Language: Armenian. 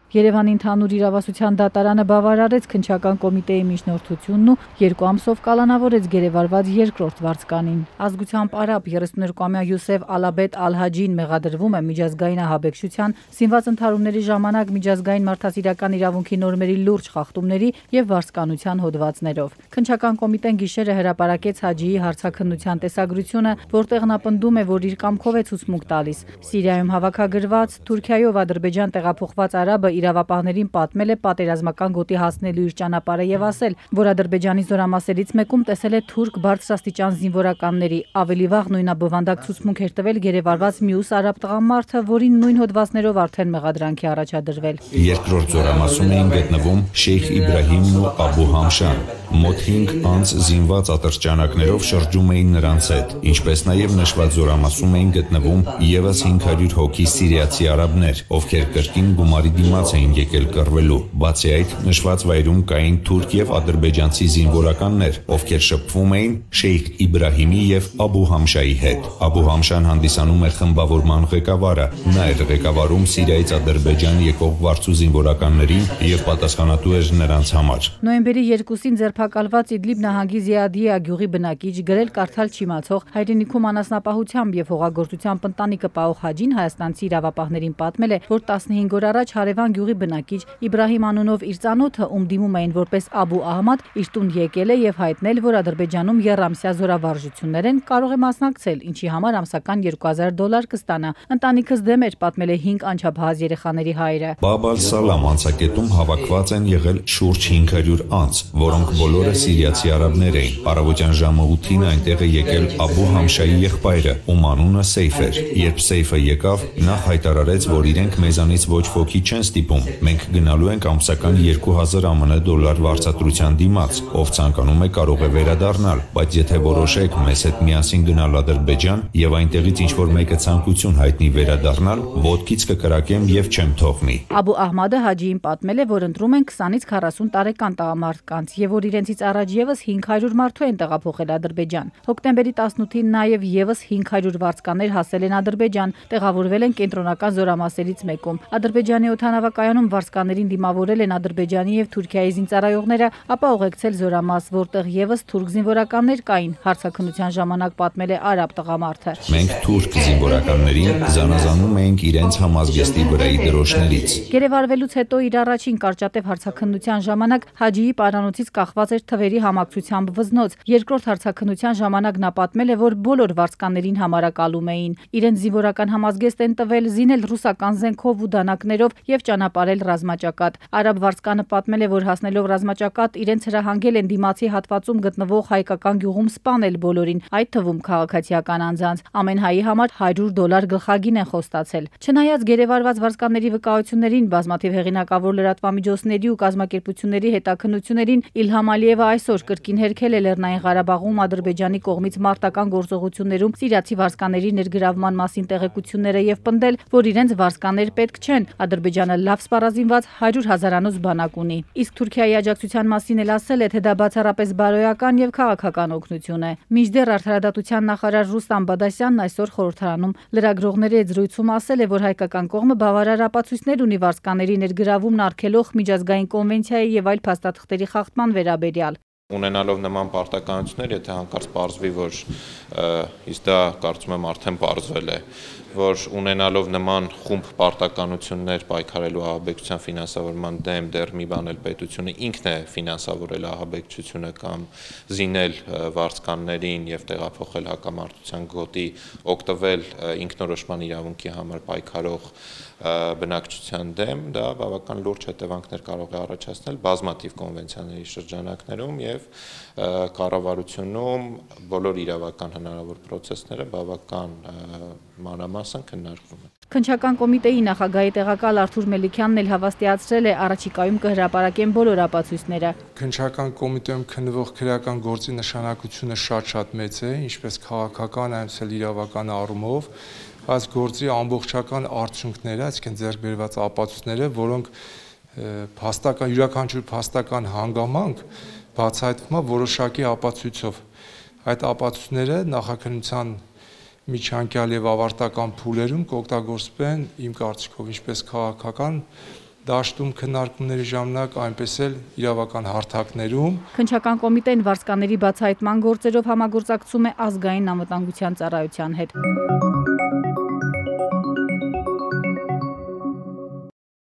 Երևանի ընդհանուր իրավասության դատարանը բավարարեց քննչական կոմիտեի միջնորդությունն ու 2 ամսով կալանավորեց գերեվարված երկրորդ վարձկանին։ Ազգությամբ արաբ 32-ամյա Յուսեֆ Ալաբեդ Ալ-Հաջին մեղադրվում է միջազգային ահաբեկչության, սինված ընդհարումների ժամանակ միջազգային մարդասիրական իրավունքի նորմերի լուրջ խախտումների եւ վարձկանության հոդվածներով։ Քննչական կոմիտեն գիշերը հրապարակեց Հաջիի հարցաքննության տեսագրությունը, որտեղ նա պնդում է, որ իր կամքով է ցուցմունք տալիս։ Սիրիայում հավաքագրված, Թուրքիայով Ադրբեջան տեղափոխված արաբը իրավապահներին պատմել է պատերազմական գոտի հասնելու իր ճանապարհը եւ ասել, որ Ադրբեջանի զորամասերից մեկում տեսել է թուրք բարձրաստիճան զինվորականների, ավելի վաղ նույնաբովանդակ ցուցմունք էր տվել գերեվարված մյուս արաբ տղամարդը, որին նույն հոդվածներով արդեն մեղադրանքի առաջադրվել։ Երկրորդ զորամասում էին գտնվում Շեյխ Իբրահիմն ու Աբու Համշան, մոտ 5 անց զինված ատրճանակներով շրջում էին նրանց հետ, ինչպես նաև նշված զորամասում էին գտնվում եւս 500 հոգի սիրիացի արաբներ, ովքեր կրկին գումարի դիմաց էին եկել կռվելու։ Բացի այդ, նշված վայրում կային թուրք եւ ադրբեջանցի զինվորականներ, ովքեր շփվում էին Շեյխ Իբրահիմի եւ Աբու Համշայի հետ։ Աբու Համշան հանդիսանում էր խմբավորման ղեկավարը, նա էր ղեկավարում Սիրիայից Ադրբեջան եկող վարձու զինվորականներին եւ պատասխանատու էր նրանց համար։ Նոյեմբերի 2-ին ձերբակալված Իդլիբ նահանգի Զիադիա գյուղի բնակիչ գրել կարդալ չիմացող հայրենիքում անասնապահությամբ եւ հողագործությամբ ընտանիքը պահող Հաջին հայաստանցի իրավապահներին պատմել է, որ 15 օր առաջ հարևան գյուղի բնակիչ Իբրահիմ անունով իր ծանոթը, ում դիմում էին որպես Աբու Ահմադ, իր տուն եկել է եւ հայտնել, որ Ադրբեջանում եռամսյա զորավարժություններ են, կարող է մասնակցել, ինչի համար ամսական $2000 կստանա։ Ընտանիքս դեմ էր, պատմել է 5 անչափահաս երեխաների հայրը։ Բաբ ալ-Սալամ անցակետում հավաքված են եղել շուրջ 500 անձ, որոնք բոլորը սիրիացի արաբներ էին։ Առավոտյան ժամը 8-ին այնտեղ է եկել Աբու Համշայի եղբայրը, ում անունը Սեյֆ էր։ Երբ Սեյֆը եկավ, նա հայտարարեց, որ իրենք մեզանից ոչ ոքի չեն ստիպում։ Մենք գնալու ենք ամսական $2000 վարձատրության դիմաց, ով ցանկանում է կարող է վերադառնալ, բայց եթե որոշեք մեզ հետ միասին գնալ Ադրբեջան եւ այնտեղից ինչ որ մեկը ցանկություն հայտնի վերադառնալ, ոտքից կկրակեմ եւ չեմ թողնի։ Աբու Ահմադը Հաջիին պատմել է, որ ընտրում են 20-ից 40 տարեկան տղամարդկանց եւ որ իրենցից առաջ եւս 500 մարդու են տեղափոխել Ադրբեջան։ Հոկտեմբերի 18-ին նաեւ եւս 500 վարձկաներ հասել են Ադրբեջան, տեղավորվել են կենտրոնական զորամասերից մեկում։ Ադրբեջանի օդանավակայանում վարձկաներին դիմավորել են Ադրբեջանի եւ Թուրքիայի զինծառայողները, ապա ուղեկցել զորամաս, որտեղ եւս թուրք զինվորականներ կային։ Հարցաքննության ժամանակ պատմել է արաբ տղամարդը։ Մենք թուրք զինվորականներին զանազանում էինք իրենց համազգեստի վրայի դրոշներից։ Գերեվարվելուց հետո իր առաջին կարճատև հարցաքննության ժամանակ Հաջիի պարանոցից կախված էր թվերի համակցությամբ վզնոց։ Երկրորդ հարցաքննության ժամանակ նա պատմել է, որ բոլոր վարձկաներին համարակալում էին։ Իրենց զինվորական համազգեստ են տվել, զինել ռուսական զենքով ու դանակներով եւ ճանապարհել ռազմաճակատ։ Արաբ վարձկանը պատմել է, որ հասնելով ռազմաճակատ իրենց հրահանգել են դիմացի հատվածում գտնվող հայկական գյուղում սպանել բոլորին, այդ թվում քաղաքացիական անձանց։ Ամեն հայի համար $100 գլխագին են խոստացել։ Չնայած գերեվարված վարձկանների վկայություններին, բազմաթիվ հեղինակավոր լրատվամիջոցների ու կազմակերպությունների հետաքննություններին, Իլհամ Ալիևը այսօր կրկին հերքել է Լեռնային Ղարաբաղում Ադրբեջանի կողմից մարտական գործողություններում սիրիացի վարձկաների ներգրավման մասին տեղեկությունները եւ պնդել, որ իրենց վարձկաներ պետք չեն։ Ադրբեջանը լավ սպառազինված 100,000-անոց բանակ ունի։ Իսկ Թուրքիայի աջակցության մասին էլ ասել է, թե դա բացառապես բարոյական եւ քաղաքական օգնություն է։ Մինչդեռ արդարադատության նախարար Ռուստամ Բադասյանն այսօր խորհրդարանում լրագրողների հետ զրույցում ասել է, որ հայկական կողմը բավարար ապացույցներ ունի վարձկաների ներգրավումն արգելող միջազգային կոնվենցիայի եւ այլ փաստաթղթերի խախտման վերաբերյալ։ Ունենալով նման պարտականություններ, եթե հանկարծ պարզվի, որ իսկ դա կարծում եմ արդեն պարզվել է, որ ունենալով նման խումբ պարտականություններ պայքարելու ահաբեկչության ֆինանսավորման դեմ դեռ մի բան էլ պետությունը ինքն է ֆինանսավորել ահաբեկչությունը կամ զինել վարձկաններին եւ տեղափոխել հակամարտության գոտի, օգտվել ինքնորոշման իրավունքի համար պայքարող բնակչության դեմ, դա բավական լուրջ հետևանքներ կարող է առաջացնել բազմաթիվ կոնվենցիաների շրջանակներում եւ կառավարությունում բոլոր իրավական հնարավոր process-ները բավական մանրամասն քննարկվում են։ Քննչական կոմիտեի նախագահի տեղակալ Արթուր Մելիքյանն էլ հավաստիացրել է, առաջիկայում կհրապարակեն բոլոր ապացույցները։ Քննչական կոմիտեում քննվող քրեական գործի նշանակությունը շատ մեծ է, ինչպես քաղաքական, այնպես էլ իրավական առումով, այս գործի ամբողջական արդյունքները, այսինքն ձեռք բերված ապացույցները, որոնք յուրաքանչյուր փաստական հանգամանք բացահայտվում է որոշակի ապացույցով։ Այդ ապացույցները նախաքննության միջանկյալ եւ ավարտական փուլերում կօգտագործվեն իմ կարծիքով ինչպես քաղաքական, դաշտում քննարկումների ժամանակ, այնպես էլ իրավական հարթակներում։ Քննչական կոմիտեն վարձկաների բացահայտման գործերով համագործակցում է ազգային անվտանգության ծառայության հետ։